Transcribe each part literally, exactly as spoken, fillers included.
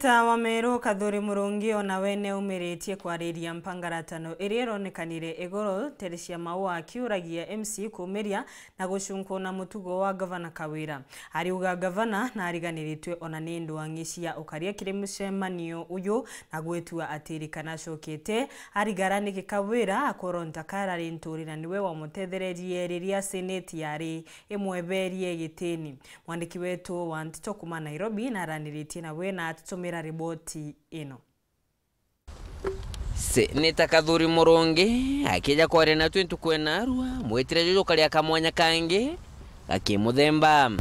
Seneta wa Meru Kathuri Murungi o nawe neumiritie kwariria mpangaratano iria ironekanire iguru, Teresia Maua akiuragia M C kumiria na gucunkuna mutugo wa Gavana Kawira. Ariuga Gavana nariganiritwe ona ni ndwang'i cia ukaria kiri mucemanio uyu na gwitua atiri kana acokete arigara niki Kawira akoronta karari nturi na niwe wamutethererie riria Seneti yari imweberie gitini. Mwandiki wetu wa nteto kuuma Nairobi naraniritie nawe na atutumira riboti ino. Seneta Kathuri Murungi akija kwaria natwi ntuku ena arua, mwitire juju karia kamwanya kangi gakimuthemba.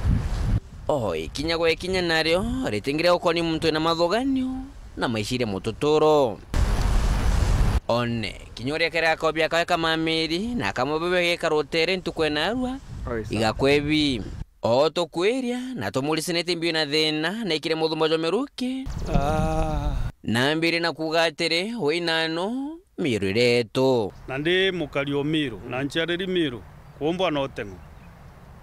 O ikinya gwa ikinya nario ritingiria gukoni muntu wina mathuganio na maiciria mututuro. One kinya uria kere akobia kawe kamamiri na akamubebia gikara utere ntuku ena arua, igakwebi. O tukwiria na tumuricinite mbio na thina, naikire muthumba jwa miruki. Ah. Nambire na kuuga atiri, wi nano, Miru iretu. Na ndi mukari o Miru, na nciariri Miru, kuumbwa na uteng'o.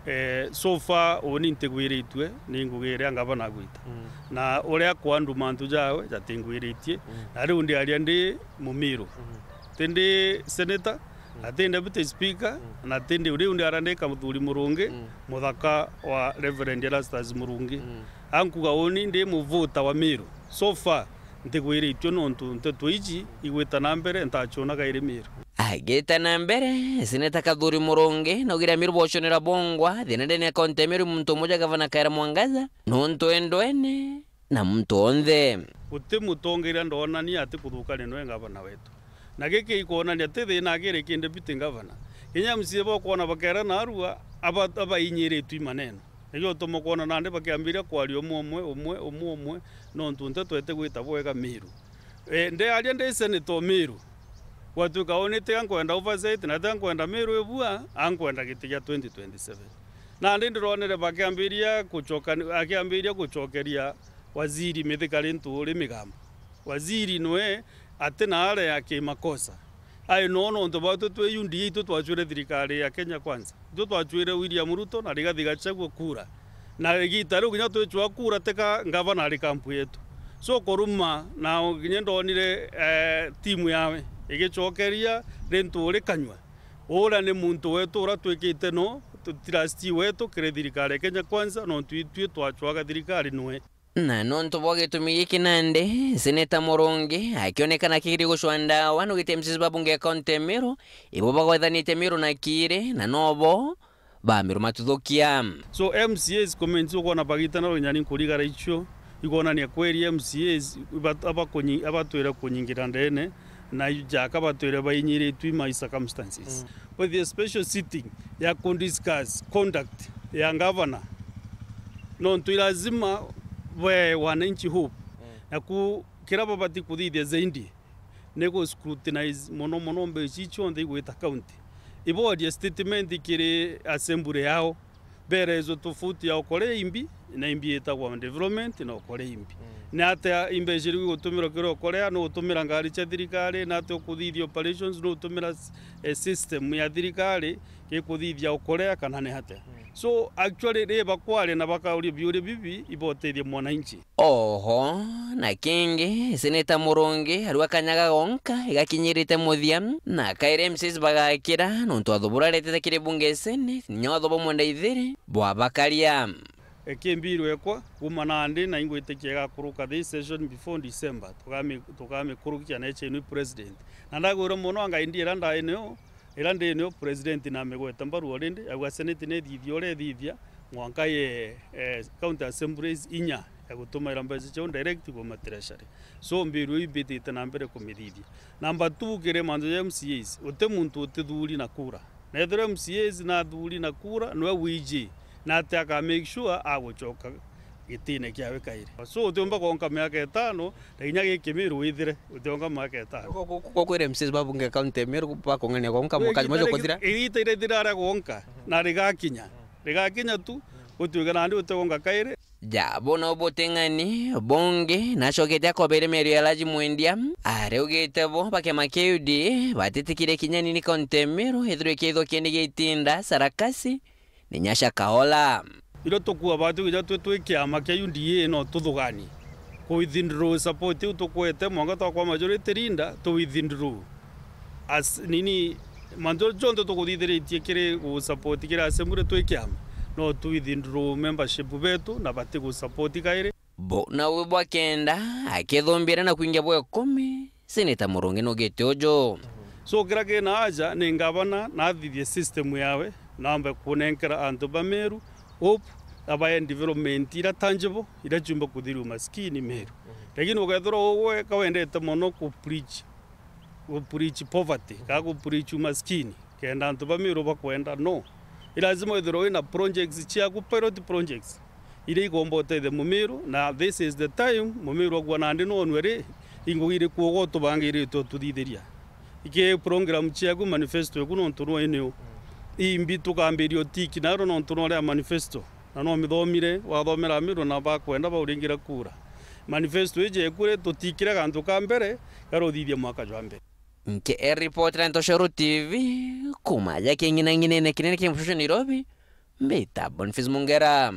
Eh, so far, uni ntigwiritue ni ngugi iria ngavana agwita. Mm. Na uria akwandu mantu jawe jatingwiritie, mm, na riu ndiaria ndi Mumiru. Mm. Tindi senator, mm, na ti deputy speaker, mm, na tindi riu ndiaria ndi Kathuri Murungi, mm, muthaka wa Reverend Erastus Murungi. Mm. Ankuga uni ndi muvuta wa Miru. So far, ntigwiritue nontu nteto iji igwita na mbere, ntacunaga iri Miru. Agita na mbere, Seneta Kathuri Murungi naugire Amiru boconera bongwa thina ndene ya kaunti ya Miru muntu umwe ja Gavana Kawira Mwangaza, nontu endwene na muntu onthe. Guti mutongeria ndonania ati kuthukania noe ngavana wetu. Na giki ikwonania ti thina akiri ki deputy governor. Kinya M C A bokwona bakera narua, aba-, abainyiritwe i maneno. Nikio utuma kwona nandi bakiambiria kwaria umwe umwe, umwe, umwe umwe, nontu nteto iti gwita bwega Miru. Eh, ndiaria ndi senator o Miru. Gwatuika uni tiga nkwenda oversight, na tiga nkwenda Miru ibua, ankwenda giti gia twenty twenty-seven. Nandi ndironere bakiambiria gucoka-, akiambiria gucokeria waziri Mithika Linturi migambo. Waziri nwe ati na area ya kimakosa. Ai no nontu bwatu twi U D A, itwe twacwire thirikari ya Kenya Kwanza. Itwe twacwire William Ruto na Rigathi Gachagua kura. Na igita riu kinya twicwa kura teka ngavana ari kampu yetu. So kuruma na kinya ndonire, eh, timu yawe igicokeria Linturi kanyua. Uria ni muntu wetu uria twikite no trustee wetu kiri thirikari ya Kenya Kwanza, nontu itwi twacwaga thirikari nwe. Na nontu bwa gitumi giki nandi, Seneta Murungi akionekana akiri gucwa ndawa nugite M C As ba bunge ya kaunti ya Miru, ibo bagwethanite Miru na Kiiri, na nobo ba Miru matuthukia. So M C As comments ukwona bagitana runyani nkurigara icio, ikwonania kweri M C As iba-, abakunyi-, abatwire kunyingira ndene, na ijaka batwire bainyiritwe i my circumstances. Mm. With a special sitting ya kudiscuss conduct ya governor, nontu i lazima we wananchi hope. Mm. Na ku-, kira babati kuthithia zaidi ni gu scrutinize mono mono mbeca ici cionthe igwita county. Iboria statement kiri assembly yao. Berezo tofauti ya ukore imbi na imbi itagwa development na ukore imbi. Mm. Ni atia imbeca iria igutumirwa kiri ukorea, no utumira ngari cia thirikari, na atia ukuthithia operations, no utumira s-, eh, system ya thirikari gikuthithia ukorea, kana ni atia? Mm. So, actually, ri bakwaria na bakauria biuria bibi, ibotethia mwananchi. Oho, na kingi, Seneta Murungi arua kanyaga gonka igakinyirite muthia, na kairi M C As bagakira, nontu watho buria aretete kiri bunge Senate, ni watho bumwe ndaithiri bwabakaria. Eki mbiru ekwa, kuma nandi na ingwitikia igakuruka this session before December, tukami-, tukamikurukia na echenui president. Na ndagwirwa mono anga indi ira ndai nio, Ira ndi nio president namigwete mbaru already, auga senate nithithia uria ithithia, mwanka ye, eh, county assemblies inya ya gutumaira mbeca ciao direct kuma treasury. So, mbiru iu imbitite na mbere kumithithia. Number two, kiri mantu ja M C As, uti muntu utithuri na kura. Na ethirwa M C As na athuri na kura, niwe wiji, na ati aka make sure agucoka gitine kiawe kairi. So, utiumba kwonka miaka itano, na kinya giki Miru withire, utiumba miaka itano. Ko, ko, ko, kwira M C As ba bunge county ya Miru bakung'ania kwonka, igita mukari majo rigi-, kuthira? Igita iria ithira aria kwonka, na rigakinya. Rigakinya tu, gutuika nandi utigonka kairi. Ja, bona ubuting'ani, bungi, nacokete akobere mierio ya Laji Mwendia, ariugite bo, ba kiama kia U D A, batitikire kinya nini county ya Miru, ithirwe kiithwa kieni gia itinda, sarakasi, ni Nyasha Kaola. Irio tukua batu kinya twi, twi kiama kia U D A no tuthugani. Ku withdraw support iu tukwete, mwanka twakwa majority leader, tu withdraw. As, nini, mantu jonthe tukuthithiritie kiri gu support kiri assembly twi kiama, no tu withdraw membership betu na bati gu support kairi. Bo nawe bwa kenda, akithumbira na kwingia bwa ikumi, Senator Murungi nugite uju. So, kira kina aja ni ngavana nathithie system yawe, nambe kunenkera antu ba Meru hope, abae development ira tangible, ira ciumba kuthiria umaskini Meru. Lakini ukethirwa ugwe ka wendete mono ku preach, ku preach poverty, ka ku preach umaskini, kenda antu ba Meru bakwenda, no. I lazima withirwe wina projects ciaku, pilot projects, iria igomba utethia Mumiru, na this is the time Mumiru agua nandi nonwe ri, i ngugi iriku ugo tubangiritwe tuthithiria. Iki program ciaku, manifesto yaku nontu nwe niu. Imbi tukambiria utiki naro nontu nore a manifesto. Na no mithomire, wathomera Meru na bakwenda bauringira kura. Manifesto iji ekure tutikire gantu ka mbere, garuthithia mwaka jwa mbere. Nke e ripoti ra Ntoshoro T V, kuma ja king'inang'inene kinene kia Mshushu Nairobi, mbita Boniface Mungera.